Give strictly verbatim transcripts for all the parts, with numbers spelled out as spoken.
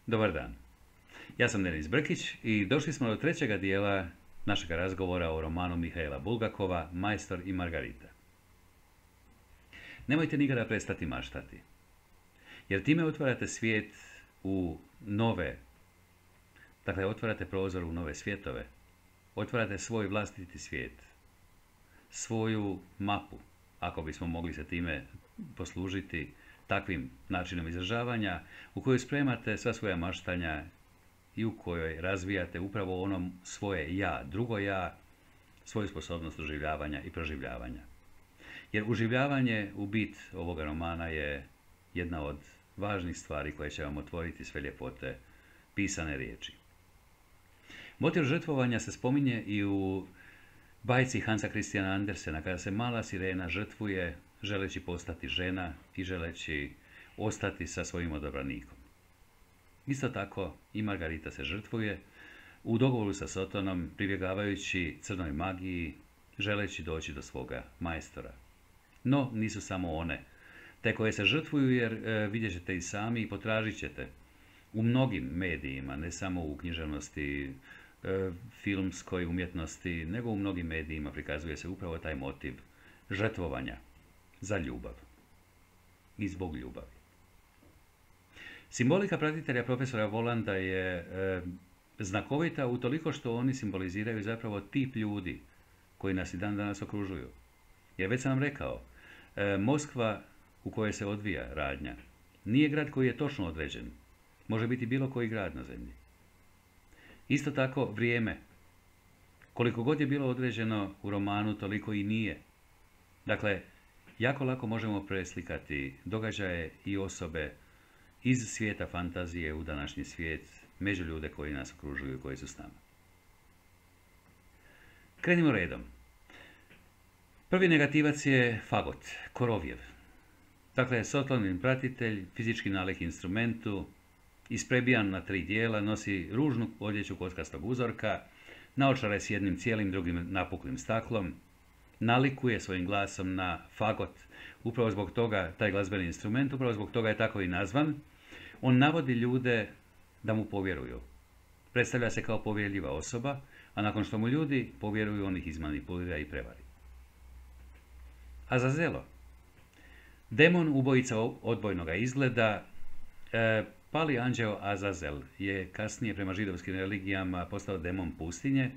Dobar dan. Ja sam Denis Brkić i došli smo do trećega dijela našeg razgovora o romanu Mihaila Bulgakova Majstor i Margarita. Nemojte nikada prestati maštati, jer time otvarate svijet u nove, dakle otvarate prozor u nove svjetove, otvarate svoj vlastiti svijet, svoju mapu, ako bismo mogli se time poslužiti takvim načinom izražavanja, u kojoj spremate sva svoja maštanja i u kojoj razvijate upravo ono svoje ja, drugo ja, svoju sposobnost doživljavanja i proživljavanja. Jer uživljavanje u bit ovoga romana je jedna od važnih stvari koje će vam otvoriti sve ljepote pisane riječi. Motiv žrtvovanja se spominje i u bajci Hansa Christiana Andersena, kada se mala sirena žrtvuje želeći postati žena i želeći ostati sa svojim odabranikom. Isto tako i Margarita se žrtvuje u dogovoru sa Sotonom, pribjegavajući crnoj magiji, želeći doći do svoga majstora. No, nisu samo one te koje se žrtvuju, jer e, vidjet ćete i sami i potražit ćete u mnogim medijima, ne samo u književnosti, e, filmskoj umjetnosti, nego u mnogim medijima prikazuje se upravo taj motiv žrtvovanja za ljubav i zbog ljubavi. Simbolika pratitelja profesora Volanda je e, znakovita utoliko što oni simboliziraju zapravo tip ljudi koji nas i dan danas okružuju. Jer već sam vam rekao, e, Moskva u kojoj se odvija radnja nije grad koji je točno određen. Može biti bilo koji grad na zemlji. Isto tako vrijeme. Koliko god je bilo određeno u romanu, toliko i nije. Dakle, jako lako možemo preslikati događaje i osobe iz svijeta fantazije u današnji svijet, među ljude koji nas okružuju i koji su s nama. Krenimo redom. Prvi negativac je fagot, Korovjev. Dakle, Sotlonin pratitelj, fizički nalik instrumentu, isprebijan na tri dijela, nosi ružnu odjeću kockastog uzorka, naočare s jednim cijelim, drugim napuklim staklom, nalikuje svojim glasom na fagot. Upravo zbog toga, taj glazbeni instrument, upravo zbog toga je tako i nazvan. On navodi ljude da mu povjeruju. Predstavlja se kao povjerljiva osoba, a nakon što mu ljudi povjeruju, on ih izmanipulira i prevari. Azazelo. Demon ubojica odbojnoga izgleda, e, pali anđeo Azazel je kasnije prema židovskim religijama postao demon pustinje,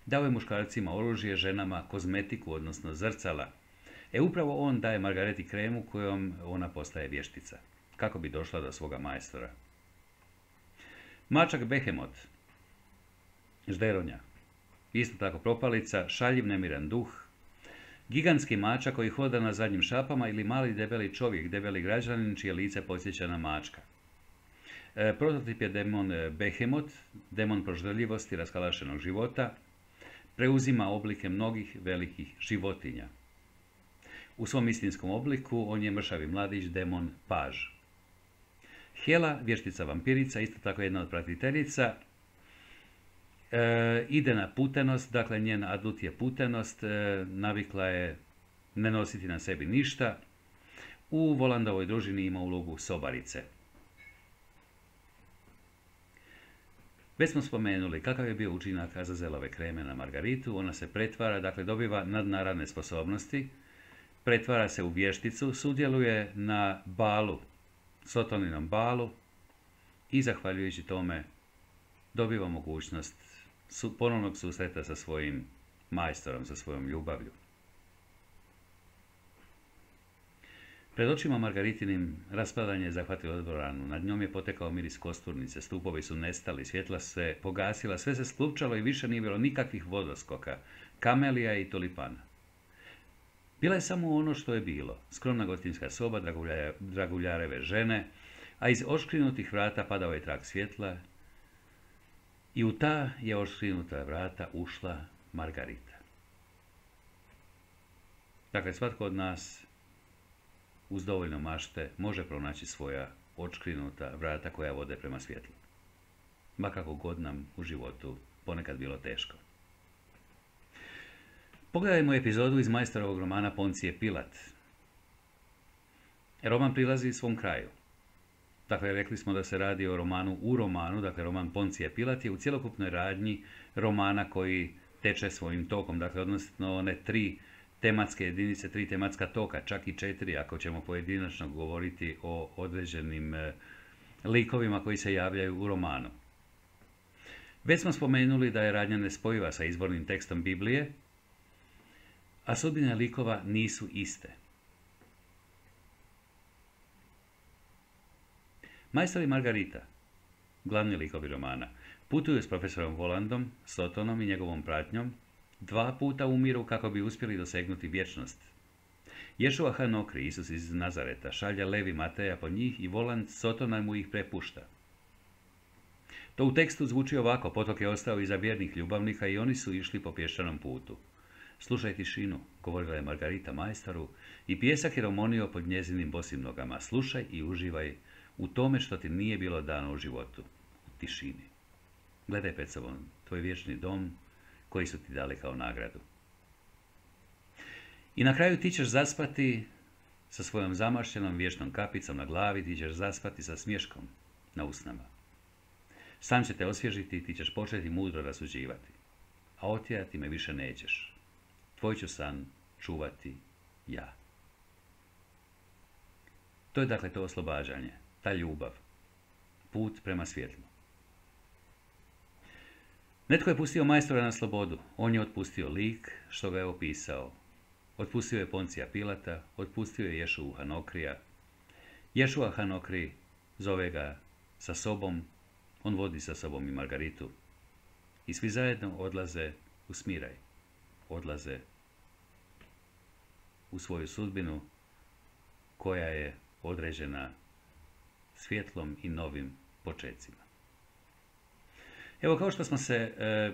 dao je muškarcima oružje, ženama kozmetiku, odnosno zrcala. E upravo on daje Margareti kremu kojom ona postaje vještica, kako bi došla do svoga majstora. Mačak Behemot, žderonja, isto tako propalica, šaljiv nemiran duh, gigantski mačak koji hoda na zadnjim šapama ili mali debeli čovjek, debeli građanin čije lice podsjeća na mačka. E, prototip je demon Behemot, demon proždeljivosti raskalašenog života, preuzima oblike mnogih velikih životinja. U svom istinskom obliku on je mršavi mladić, demon Paž. Hela, vještica vampirica, isto tako jedna od pratiteljica, e, ide na putenost, dakle njen adut je putenost, e, navikla je ne nositi na sebi ništa. U Volandovoj družini ima ulogu sobarice. Već smo spomenuli kakav je bio učinak Azazelove kreme na Margaritu. Ona se pretvara, dakle dobiva nadnaravne sposobnosti, pretvara se u vješticu, sudjeluje na balu, Sotoninom balu i zahvaljujući tome dobiva mogućnost ponovnog susreta sa svojim majstorom, sa svojom ljubavlju. Pred očima Margaritinim raspadanje je zahvatilo dvoranu. Nad njom je potekao miris kosturnice, stupovi su nestali, svjetla se pogasila, sve se sklupčalo i više nije bilo nikakvih vodoskoka, kamelija i tulipana. Bila je samo ono što je bilo, skromna gostinska soba, draguljareve žene, a iz oškrinutih vrata padao je trak svjetla i u ta je oškrinuta vrata ušla Margarita. Dakle, svatko od nas uz dovoljno mašte može pronaći svoja odškrinuta vrata koja vode prema svjetlu. Ma kako god nam u životu ponekad bilo teško. Pogledajmo epizodu iz majstorovog romana Poncije Pilat. Roman prilazi svom kraju. Dakle, rekli smo da se radi o romanu u romanu, dakle roman Poncije Pilat je u cjelokupnoj radnji romana koji teče svojim tokom, dakle odnosno one tri tematske jedinice, tri tematska toka, čak i četiri ako ćemo pojedinačno govoriti o određenim e, likovima koji se javljaju u romanu. Već smo spomenuli da je radnja nespojiva sa izvornim tekstom Biblije, a sudbine likova nisu iste. Majstor i Margarita, glavni likovi romana, putuju s profesorom Volandom, Sotonom i njegovom pratnjom, dva puta umiru kako bi uspjeli dosegnuti vječnost. Ješua Hanokri, Isus iz Nazareta, šalje Levi Mateja po njih i Voland Sotona mu ih prepušta. To u tekstu zvuči ovako: potok je ostao iza vjernih ljubavnika i oni su išli po pješčanom putu. Slušaj tišinu, govorila je Margarita majstoru, i pjesak je romonio pod njezinim bosim nogama. Slušaj i uživaj u tome što ti nije bilo dano u životu, u tišini. Gledaj pred sobom tvoj vječni dom koji su ti dali kao nagradu. I na kraju ti ćeš zaspati sa svojom zamašljenom vječnom kapicom na glavi, ti ćeš zaspati sa smješkom na usnama. San će te osvježiti i ti ćeš početi mudro rasuđivati, a otjerati me više nećeš. Tvoj ću san čuvati ja. To je dakle to oslobađanje, ta ljubav, put prema svjetlu. Netko je pustio majstora na slobodu, on je otpustio lik što ga je opisao. Otpustio je Poncija Pilata, otpustio je Ješua Hanokrija. Ješua Hanokri zove ga sa sobom, on vodi sa sobom i Margaritu. I svi zajedno odlaze u smiraj, odlaze u svoju sudbinu koja je određena svjetlom i novim počecima. Evo, kao što smo se e,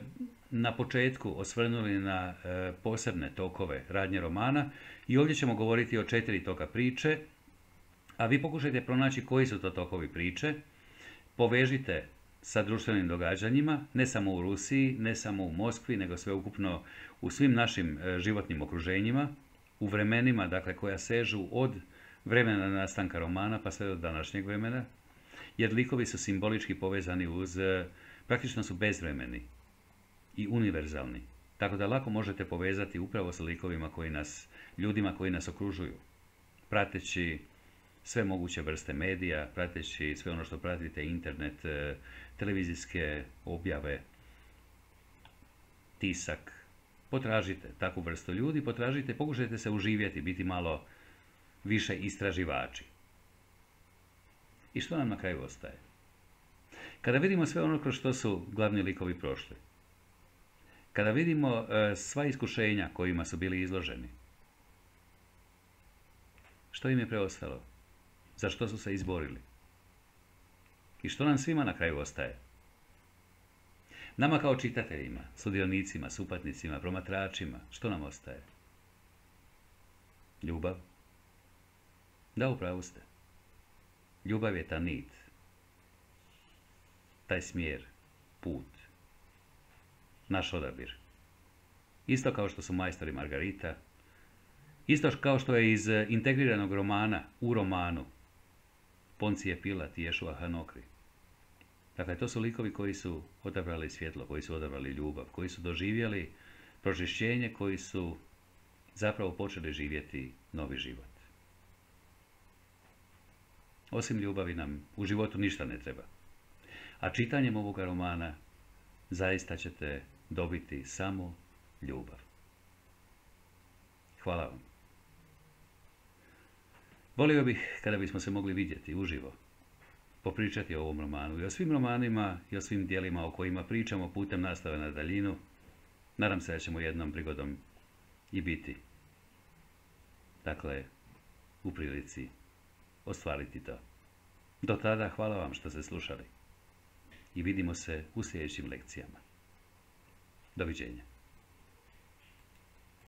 na početku osvrnuli na e, posebne tokove radnje romana, i ovdje ćemo govoriti o četiri toka priče, a vi pokušajte pronaći koji su to tokovi priče, povežite sa društvenim događanjima, ne samo u Rusiji, ne samo u Moskvi, nego sveukupno u svim našim e, životnim okruženjima, u vremenima, dakle, koja sežu od vremena nastanka romana pa sve do današnjeg vremena, jer likovi su simbolički povezani uz, praktično su bezvremeni i univerzalni, tako da lako možete povezati upravo sa likovima koji nas, ljudima koji nas okružuju, prateći sve moguće vrste medija, prateći sve ono što pratite, internet, televizijske objave, tisak. Potražite takvu vrstu ljudi, potražite, pokušajte se uživjeti, biti malo više istraživači. I što nam na kraju ostaje? Kada vidimo sve ono kroz što su glavni likovi prošli, kada vidimo e, sva iskušenja kojima su bili izloženi, što im je preostalo? Za što su se izborili? I što nam svima na kraju ostaje? Nama kao čitateljima, sudionicima, supatnicima, promatračima, što nam ostaje? Ljubav? Da, upravo ste. Ljubav je ta nit, taj smjer, put, naš odabir. Isto kao što su majstor i Margarita, isto kao što je iz integriranog romana u romanu Poncije Pilat i Ješua Hanokri. Dakle, to su likovi koji su odabrali svjetlo, koji su odabrali ljubav, koji su doživjeli pročišćenje, koji su zapravo počeli živjeti novi život. Osim ljubavi nam u životu ništa ne treba. A čitanjem ovoga romana zaista ćete dobiti samo ljubav. Hvala vam. Volio bih kada bismo se mogli vidjeti uživo, popričati o ovom romanu i o svim romanima i o svim dijelima o kojima pričamo putem nastave na daljinu. Nadam se da ćemo jednom prigodom i biti, dakle, u prilici ostvariti to. Do tada hvala vam što ste slušali i vidimo se u sljedećim lekcijama. Doviđenja.